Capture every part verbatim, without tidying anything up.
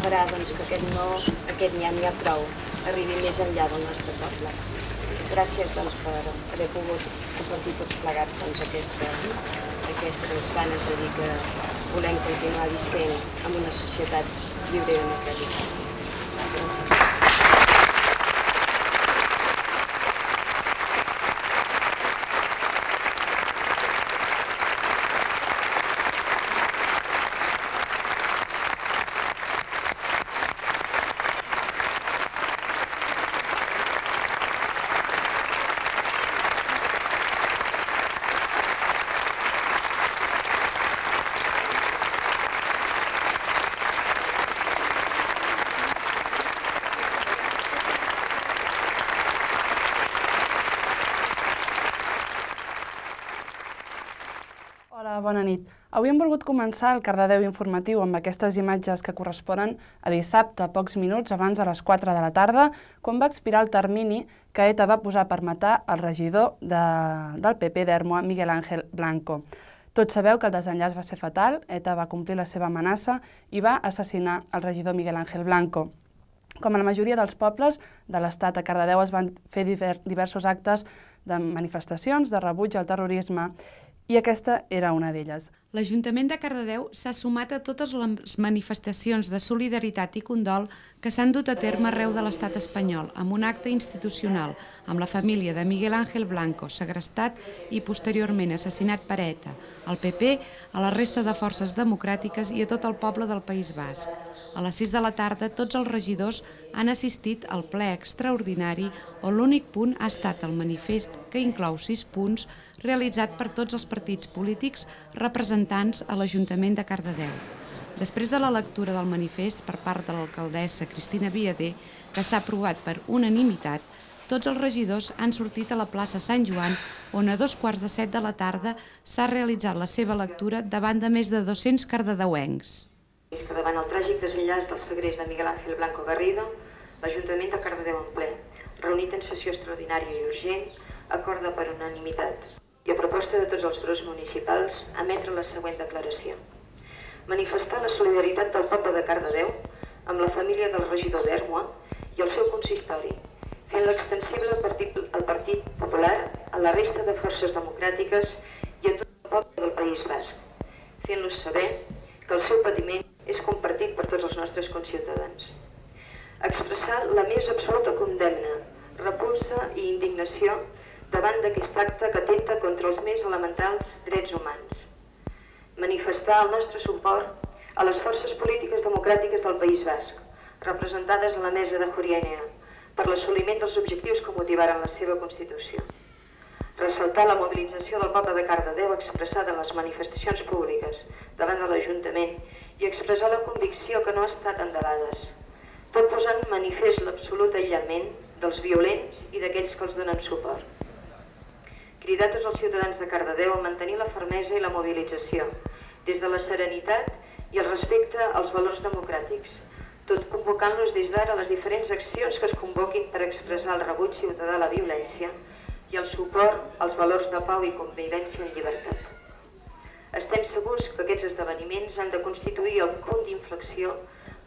farà que aquest no, aquest n'hi ha n'hi ha prou, arribi més enllà del nostre poble. Gràcies per haver pogut compartir tots plegats aquestes ganes de dir que volem continuar visquent en una societat lliure i democràtica. Gràcies. Bona nit. Avui hem volgut començar el Cardedeu informatiu amb aquestes imatges que corresponen a dissabte, a pocs minuts abans de les quatre de la tarda, quan va expirar el termini que ETA va posar per matar el regidor del P P d'Ermua, Miguel Ángel Blanco. Tots sabeu que el desenllaç va ser fatal, ETA va complir la seva amenaça i va assassinar el regidor Miguel Ángel Blanco. Com a la majoria dels pobles de l'Estat, a Cardedeu es van fer diversos actes de manifestacions, de rebuig al terrorisme, i aquesta era una d'elles. L'Ajuntament de Cardedeu s'ha sumat a totes les manifestacions de solidaritat i condol que s'han dut a terme arreu de l'estat espanyol, amb un acte institucional, amb la família de Miguel Ángel Blanco, segrestat i posteriorment assassinat per ETA, al P P, a la resta de forces democràtiques i a tot el poble del País Basc. A les sis de la tarda, tots els regidors han assistit al ple extraordinari on l'únic punt ha estat el manifest, que inclou sis punts, realitzat per tots els partits polítics representants a l'Ajuntament de Cardedeu. Després de la lectura del manifest per part de l'alcaldessa Cristina Viader, que s'ha aprovat per unanimitat, tots els regidors han sortit a la plaça Sant Joan, on a dos quarts de set de la tarda s'ha realitzat la seva lectura davant de més de dos-cents cardedeuencs. Que davant el tràgic desenllaç del segrest de Miguel Ángel Blanco Garrido, l'Ajuntament de Cardedeu en ple, reunit en sessió extraordinària i urgent, acorda per unanimitat i a proposta de tots els grups municipals emetre la següent declaració. Manifestar la solidaritat del poble de Cardedeu amb la família del regidor d'Ermua i el seu consistori, fent-la extensible al Partit Popular, a la resta de forces democràtiques i a tot el poble del País Basc, fent-los saber que el seu patiment és compartit per tots els nostres conciutadans. Expressar la més absoluta condemna, repulsa i indignació davant d'aquest acte que atempta contra els més elementals drets humans. Manifestar el nostre suport a les forces polítiques democràtiques del País Basc, representades a la mesa de Juliana, per l'assoliment dels objectius que motivaren la seva Constitució. Ressaltar la mobilització del poble de Cardedeu expressada en les manifestacions públiques davant de l'Ajuntament i expressar la convicció que no ha estat en debades, tot posant manifest l'absolut aïllament dels violents i d'aquells que els donen suport. Cridar tots els ciutadans de Cardedeu a mantenir la fermesa i la mobilització, des de la serenitat i el respecte als valors democràtics, tot convocant-los des d'ara a les diferents accions que es convoquin per expressar el rebuig ciutadà a la violència i el suport als valors de pau i convivència en llibertat. Estem segurs que aquests esdeveniments han de constituir el punt d'inflexió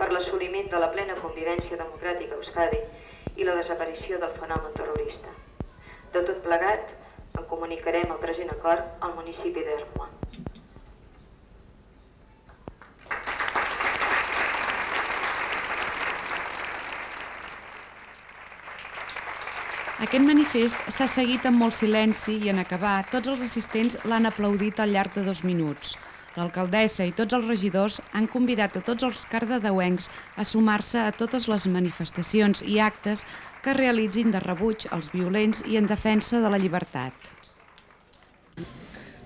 per l'assoliment de la plena convivència democràtica a Euskadi i la desaparició del fenomen terrorista. De tot plegat, en comunicarem el present acord al municipi d'Ermua. Aquest manifest s'ha seguit amb molt silenci i en acabar tots els assistents l'han aplaudit al llarg de dos minuts. L'alcaldessa i tots els regidors han convidat a tots els cardedeuencs a sumar-se a totes les manifestacions i actes que realitzin de rebuig als violents i en defensa de la llibertat.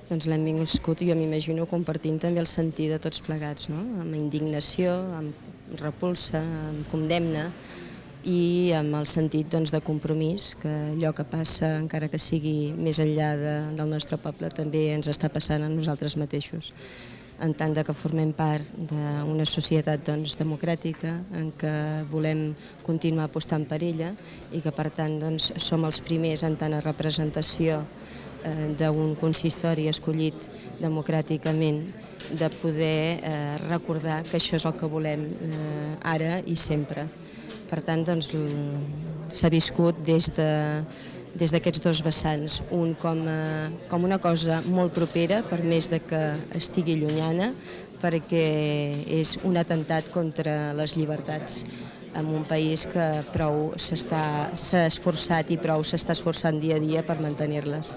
Doncs l'hem vingut, jo m'imagino, compartint també el sentir de tots plegats, amb indignació, amb repulsa, amb condemna i amb el sentit de compromís, que allò que passa, encara que sigui més enllà del nostre poble, també ens està passant a nosaltres mateixos. En tant que formem part d'una societat democràtica en què volem continuar apostant per ella i que per tant som els primers en tant a representació d'un consistori escollit democràticament, de poder recordar que això és el que volem ara i sempre. Per tant, s'ha viscut des d'aquests dos vessants, un com una cosa molt propera, per més que estigui llunyana, perquè és un atemptat contra les llibertats en un país que prou s'ha esforçat i prou s'està esforçant dia a dia per mantenir-les.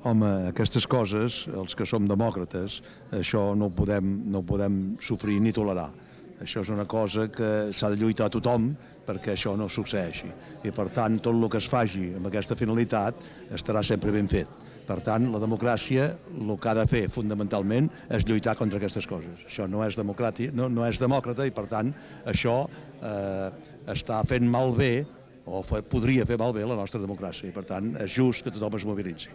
Home, aquestes coses, els que som demòcrates, això no ho podem sofrir ni tolerar. Això és una cosa que s'ha de lluitar a tothom perquè això no succeeixi. I per tant, tot el que es faci amb aquesta finalitat estarà sempre ben fet. Per tant, la democràcia el que ha de fer fonamentalment és lluitar contra aquestes coses. Això no és demòcrata i per tant això està fent malbé o podria fer malbé la nostra democràcia i per tant és just que tothom es mobilitzi.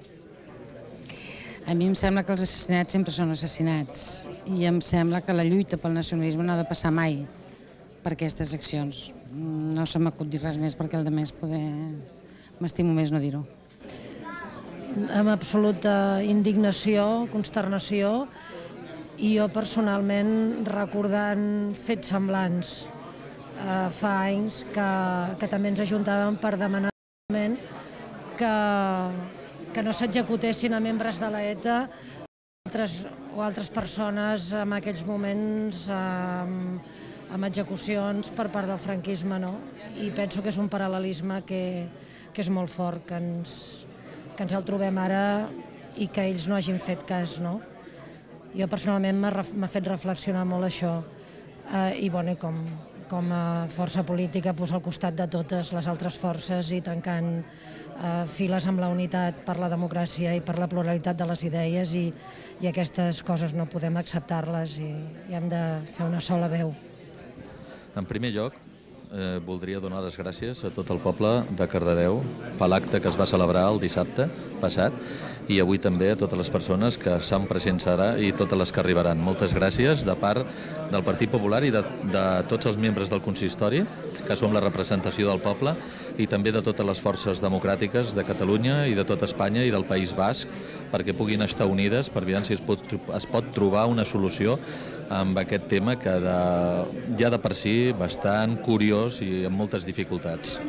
A mi em sembla que els assassinats sempre són assassinats i em sembla que la lluita pel nacionalisme no ha de passar mai per aquestes accions. No se m'acut dir res més perquè el de més poder m'estimo més no dir-ho. Amb absoluta indignació, consternació i jo personalment recordant fets semblants. Fa anys que també ens ajuntàvem per demanar que que no s'executessin a membres de l'ETA o altres persones en aquells moments amb execucions per part del franquisme. I penso que és un paral·lelisme que és molt fort, que ens el trobem ara i que ells no hagin fet cas. Jo personalment m'ha fet reflexionar molt això i com a força política al costat de totes les altres forces i tancant files amb la unitat per la democràcia i per la pluralitat de les idees i aquestes coses no podem acceptar-les i hem de fer una sola veu. En primer lloc, voldria donar les gràcies a tot el poble de Cardedeu per l'acte que es va celebrar el dissabte passat i avui també a totes les persones que s'han presents ara i totes les que arribaran. Moltes gràcies de part del Partit Popular i de tots els membres del consistori, que som la representació del poble, i també de totes les forces democràtiques de Catalunya i de tot Espanya i del País Basc, perquè puguin estar unides per veure si es pot trobar una solució amb aquest tema que ja de per si bastant curiós i amb moltes dificultats.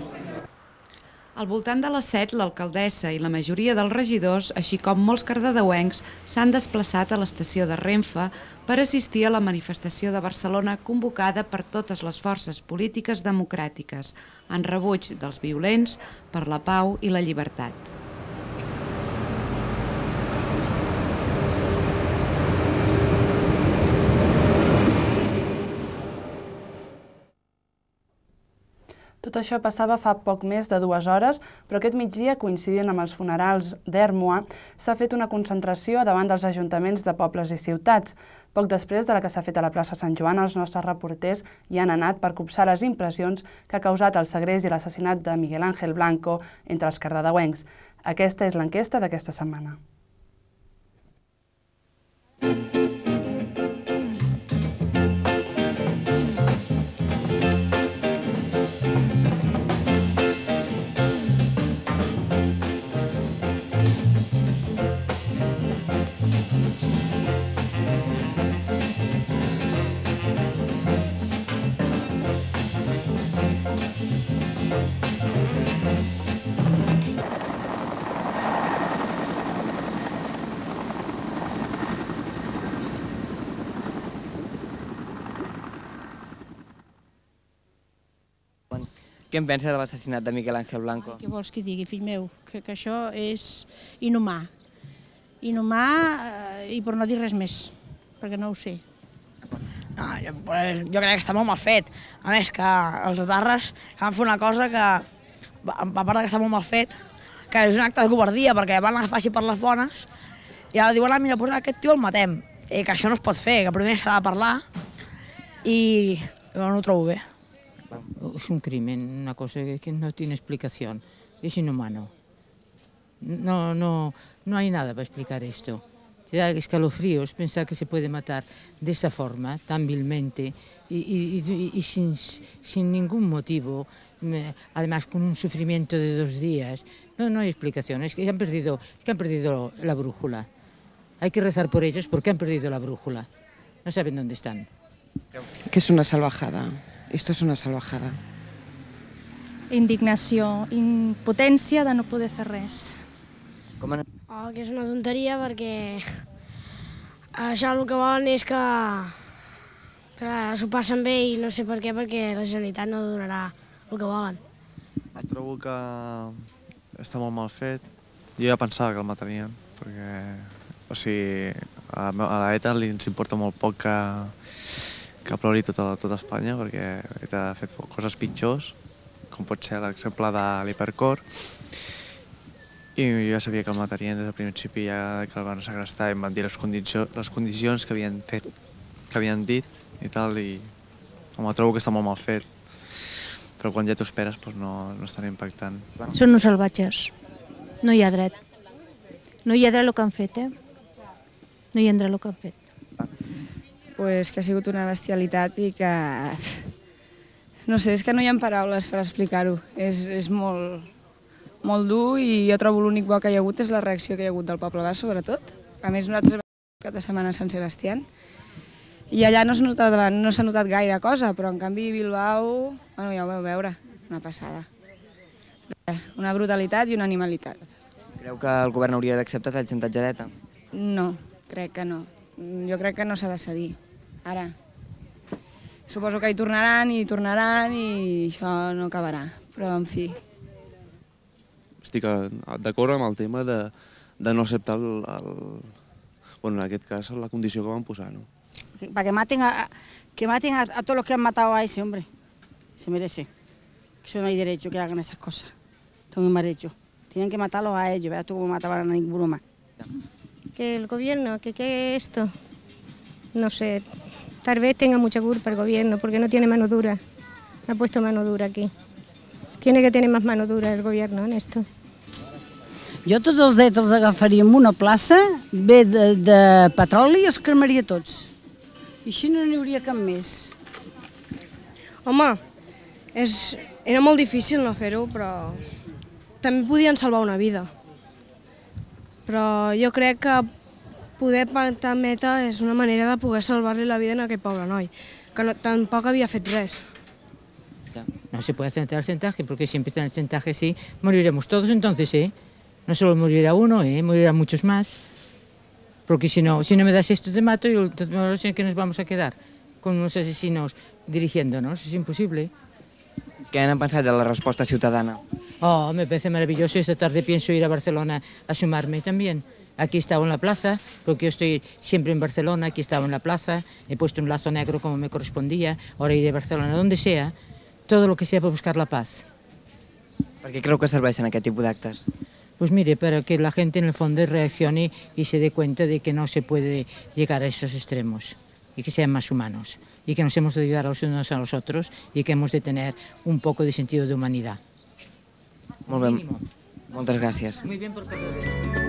Al voltant de les set, l'alcaldessa i la majoria dels regidors, així com molts cardedeuencs, s'han desplaçat a l'estació de Renfe per assistir a la manifestació de Barcelona convocada per totes les forces polítiques democràtiques, en rebuig dels violents per la pau i la llibertat. Tot això passava fa poc més de dues hores, però aquest migdia, coincidint amb els funerals d'Ermua, s'ha fet una concentració davant dels ajuntaments de pobles i ciutats. Poc després de la que s'ha fet a la plaça Sant Joan, els nostres reporters hi han anat per copsar les impressions que ha causat el segrest i l'assassinat de Miguel Ángel Blanco entre els cardedeuencs. Aquesta és l'enquesta d'aquesta setmana. Què en pensa de l'assassinat de Miguel Ángel Blanco? Què vols que digui, fill meu? Que això és inhumà. Inhumà i per no dir res més, perquè no ho sé. Jo crec que està molt mal fet. A més, que els etarres van fer una cosa que, a part que està molt mal fet, que és un acte de covardia, perquè van agafar així per les bones, i ara diuen, mira, doncs aquest tio el matem. I que això no es pot fer, que primer s'ha de parlar, i jo no ho trobo bé. Es un crimen, una cosa que no tiene explicación, es inhumano. No, no, no hay nada para explicar esto. te da escalofríos pensar que se puede matar de esa forma, tan vilmente, y, y, y, y sin, sin ningún motivo, además con un sufrimiento de dos días. No, no hay explicación, es que han perdido, es que han perdido la brújula. Hay que rezar por ellos porque han perdido la brújula. No saben dónde están. Que és una salvajada. Esto es una salvajada. Indignació, impotència de no poder fer res. Com en... Oh, que és una tonteria perquè això el que volen és que, que s'ho passen bé i no sé per què, perquè la Generalitat no donarà el que volen. Trobo que està molt mal fet. Jo ja pensava que el matarien, perquè o sigui, a l'ETA li ens importa molt poc que, que plori tota, tota Espanya, perquè ETA ha fet coses pitjors, com pot ser l'exemple de l'Hipercor, i jo ja sabia que el matarien des del principi, ja que el van segrestar i em van dir les condicions, les condicions que havien fet, que havien dit i tal, i home, trobo que està molt mal fet, però quan ja t'ho esperes doncs no, no és tan impactant. Són uns salvatges, no hi ha dret. No hi ha dret el que han fet, eh? No hi ha dret el que han fet. Pues que ha sigut una bestialitat i que... No sé, és que no hi ha paraules per explicar-ho. És, és molt, molt dur i jo trobo l'únic bo que hi ha hagut és la reacció que hi ha hagut del poble basc, sobretot. A més, nosaltres vam cap de setmana a Sant Sebastián i allà no s'ha notat, no s'ha notat gaire cosa, però en canvi Bilbao, bueno, ja ho vau veure, una passada. Una brutalitat i una animalitat. Creu que el govern hauria d'acceptar el xantatge d'ETA? No, crec que no. Jo crec que no s'ha de cedir. Ara, suposo que hi tornaran i hi tornaran i això no acabarà, però en fi. Estic d'acord amb el tema de, de no acceptar el, el, bueno, en aquest cas la condició que van posar, ¿no? Para que maten a, que maten a, a todos los que han matado a ese hombre. Se merece. Eso no hay derecho que hagan esas cosas. Está muy mal hecho. Tienen que matarlos a ellos, verás tú cómo mataban a ninguno más. Que el gobierno, que qué esto, no sé, tal vez tenga mucha culpa el gobierno porque no tiene mano dura. Ha puesto mano dura aquí. Tiene que tener más mano dura el gobierno en esto. Jo tots els drets els agafaria en una plaça, bé de, de petroli i els cremaria tots. I així no n'hi hauria cap més. Home, és, era molt difícil no fer-ho, però també podien salvar una vida. Però jo crec que poder pactar meta és una manera de poder salvar-li la vida a aquest pobre noi, que no, tampoc havia fet res. No se puede aceptar el chantaje, porque si empieza el chantaje sí, moriremos todos entonces, ¿eh? No solo morirá uno, ¿eh? Morirán muchos más. Porque si no, si no me das esto te mato y entonces ¿en qué nos vamos a quedar? Con unos asesinos dirigiéndonos, es imposible. ¿Qué han pensado de la respuesta ciudadana? Oh, me parece maravilloso. Esta tarde pienso ir a Barcelona a sumarme también. Aquí estaba en la plaza, porque yo estoy siempre en Barcelona, aquí estaba en la plaza, he puesto un lazo negro como me correspondía, ahora iré a Barcelona, donde sea, todo lo que sea para buscar la paz. ¿Por qué creo que serveixen aquest tipus d'actes? Pues mire, para que la gente en el fondo reaccione y se dé cuenta de que no se puede llegar a esos extremos y que sean más humanos y que nos hemos de ayudar los unos a los otros y que hemos de tener un poco de sentido de humanidad. Molt bé. Moltes gràcies. Muy bien por cada vez.